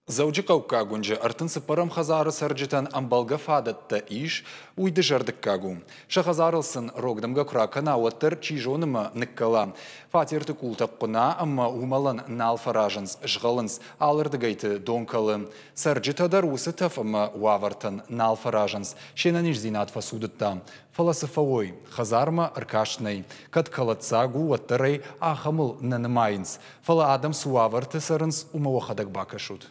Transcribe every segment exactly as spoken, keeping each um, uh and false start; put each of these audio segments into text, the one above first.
Дзӕуджыхъӕуккаг уынджы ӕртын цыппӕрӕм хӕдзары цӕрджытӕн ӕмбӕлгӕ фадӕттӕ ис, уый дызӕрдыггаг у. Сӕ хӕдзарыл сын рог дымгӕ куы ракӕна, уӕддӕр чи зоны мӕ ныккӕла. Фатерты къултӕ хъуына ӕмӕ уымӕлӕн нал фӕразынц, згъӕлынц, алырдыгӕйты дон кӕлы. Цӕрджытӕ дӕр уыцы тӕф ӕмӕ уавӕртӕн нал фӕразынц, се нӕниздзинад фӕцудыдта. Фӕлӕ цы фӕуой, хӕдзармӕ ӕркаст нӕй. Кӕд кӕлӕддзаг у, уӕддӕр ӕй ахӕмыл нӕ нымайынц. Фӕлӕ адӕм цы уавӕрты цӕрынц, уымӕ уӕхӕдӕг бакӕсут.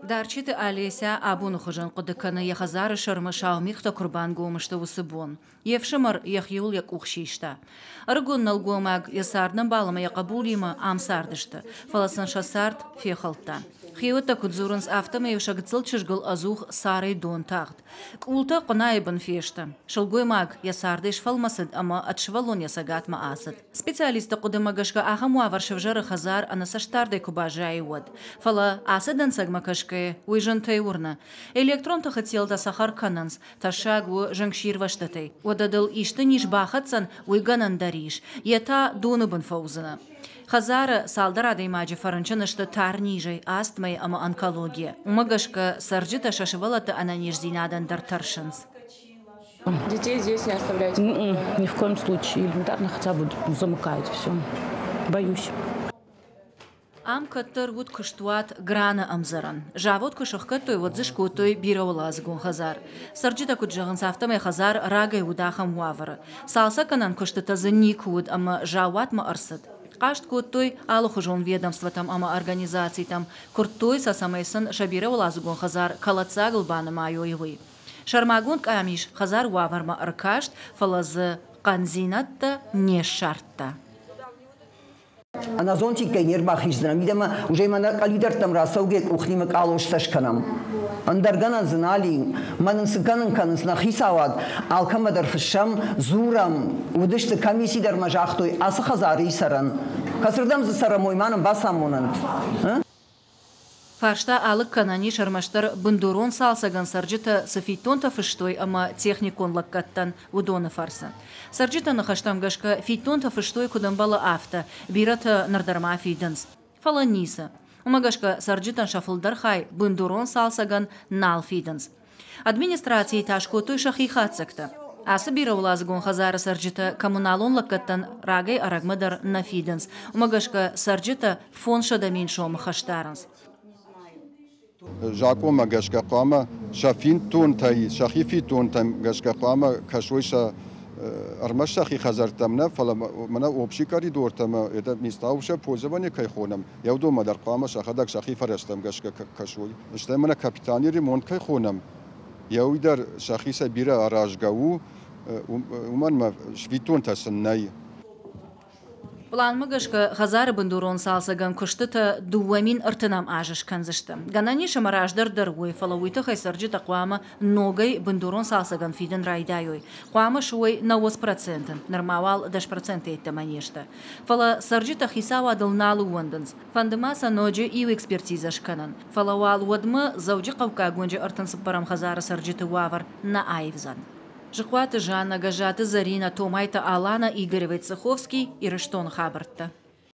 Дарчиты Олеся абоны хуызӕн хъуыды кӕны, йӕ хӕдзары сӕрмӕ сау мигътӕ куы рбангом сты, уыцы бон. Йе фсымӕр йӕхиуыл йӕ къух систа. Ӕрыгон нӕлгоймаг йӕ цардӕмбал ӕмӕ йӕ хъӕбулимӕ ам цардысты, фӕлӕ сын сӕ цард фехӕлдта. Хиуӕттӕ куыд дзурынц, афтӕмӕй сӕ гыццыл чызгыл ӕдзух царӕй дон тагъд. Къултӕ хъуынайы бын фесты. Сылгоймаг йӕ цардӕй сфӕлмӕцыд ӕмӕ ӕд сывӕллон йӕ цӕгатмӕ ацыд. Специалистты хъуыдымӕ гӕсгӕ ахӕм уавӕр сӕвзӕры хӕдзар ӕнӕцӕстдардӕй куы баззайы, уӕд. Фӕлӕ ацы дӕнцӕгмӕ кӕсгӕйӕ уый зынтӕй уырны. Электрон тыхы телтӕ цӕхӕр кӕнынц, тӕссаг у зынгсирвӕзтытӕй. Уӕдӕ дыл исты низ бахӕцдзӕн, уый гӕнӕн дӕр ис. Йе та доны бын фӕуыдзынӕ. Хӕдзары цалдӕр адӕймаджы фӕрынчын сты тарнизӕй, астмӕйӕ ӕмӕ онкологийӕ. Уымӕ гӕсгӕ цӕрджытӕ сӕ сывӕллӕтты ӕнӕниздзинадӕн дӕр тӕрсынц. Детей здесь не оставляйте? М-м, ни в коем случае. Элементарно хотя бы замыкают все. Боюсь. Ам кӕддӕр уыд куыстуат Граны ӕмдзӕрӕн. Завод куы сӕхгӕдтой, уӕд дзы скодтой бирӕуӕладзыгон хӕдзар. Цӕрджытӕ куыд зӕгъынц, афтӕмӕй хӕдзар рагӕй уыд ахӕм уавӕры. Цалцӕггӕнӕн куыстытӕ дзы никуы уыд ӕмӕ заууатмӕ ӕрцыд. Хъаст кодтой алыхуызон ведомствотӕм ӕмӕ организацитӕм, куырдтой сӕ, цӕмӕй сын сӕ бирӕуӕладзыгон хӕдзар кӕлӕддзагыл банымайой, уый. Сӕрмагонд къамис хӕдзары уавӕрмӕ ӕркаст, фӕлӕ дзы хъӕндзинӕдтӕ не ссардта. Ӕнӕзонтиккӕй не рбахиздзынӕн, мидӕмӕ уже мӕнӕ къӕлидӕрттӕм рацӕугӕ къухнимӕ къалостӕ скӕнӕм. Ӕндӕр гӕнӕн дзы нал и. Мӕн ын цы кӕнын кӕнынц нӕ хицауад, алкӕмӕ дӕр фыссӕм, дзурӕм. Уыдысты комисси дӕр ма загътой, ацы хӕдзары и цӕрӕн. Кӕцырдӕм дзы цӕрӕм, уый ма нын бацамонӕнт. Фарста алыг кӕнӕн ис ӕрмӕстдӕр бындурон цалцӕгӕн цӕрджытӕ цы фиддонтӕ фыстой ӕмӕ техникон лӕггӕдтӕн, уыдоны фӕрцы. Цӕрджыты ныхӕстӕм гӕсгӕ фиддонтӕ фыстой куыд ӕмбӕлы, афтӕ, бирӕтӕ ныр дӕр ма фидынц. Фӕлӕ ницы. Уымӕ гӕсгӕ цӕрджытӕн сӕ фылдӕр хай бындурон цалцӕгӕн нал фидынц. Администрацийы та скодтой сӕхи хатдзӕгтӕ. Ацы бирӕуӕладзыгон хӕдзары цӕрджытӕ коммуналон лӕггӕдтӕн рагӕй ӕрӕгмӕ дӕр нӕ фидынц. Уымӕ гӕсгӕ цӕрджытӕ фондзсӕдӕ мин сомы хӕс дарынц. Закъонмӕ гӕсгӕ хъуамӕ сӕ фиддонтӕй, сӕхи фиддонтӕм гӕсгӕ хъуамӕ кӕсой сӕ ӕрмӕст сӕхи хӕдзӕрттӕм нӕ, фӕлӕ мӕнӕ общий коридортӕм, это места общего пользования кӕй хонӕм, йӕ уыдонмӕ дӕр хъуамӕ сӕхӕдӕг сӕхи фӕрӕзтӕм гӕсгӕ кӕсой. Стӕй мӕнӕ капитальный ремонт кӕй хонӕм, йӕ уый дӕр сӕхицӕй бирӕ аразгӕ у, уымӕн ӕмӕ фиддонтӕ сын нӕй. Планмӕ гӕсгӕ хӕдзары бындурон цалцӕгӕн куыстытӕ дыууӕ мин ӕртынӕм азы скӕндзысты. Гӕнӕн ис ӕмӕ раздӕр дӕр уой, фӕлӕ уый тыххӕй цӕрджытӕ хъуамӕ ногӕй бындурон цалцӕгӕн фидын райдайой. Хъуамӕ суой нӕуӕдз проценты, нырма уал дӕс проценты йеддӕмӕ не сты. Фӕлӕ цӕрджытӕ хицауадыл нал ӕууӕндынц. Фӕнды ма сӕ ноджы иу экспертизӕ скӕнын. Фӕлӕ уал уӕдмӕ Дзӕуджыхъӕуккаг уынджы ӕртын цыппӕрӕм хӕдзары цӕрджыты уавӕр нӕ аивдзӕн. Зыхъуаты Жанна, Гӕззаты Зӕринӕ, Томайты Алана, Игорь Войцеховский, Ирыстоны хабӕрттӕ.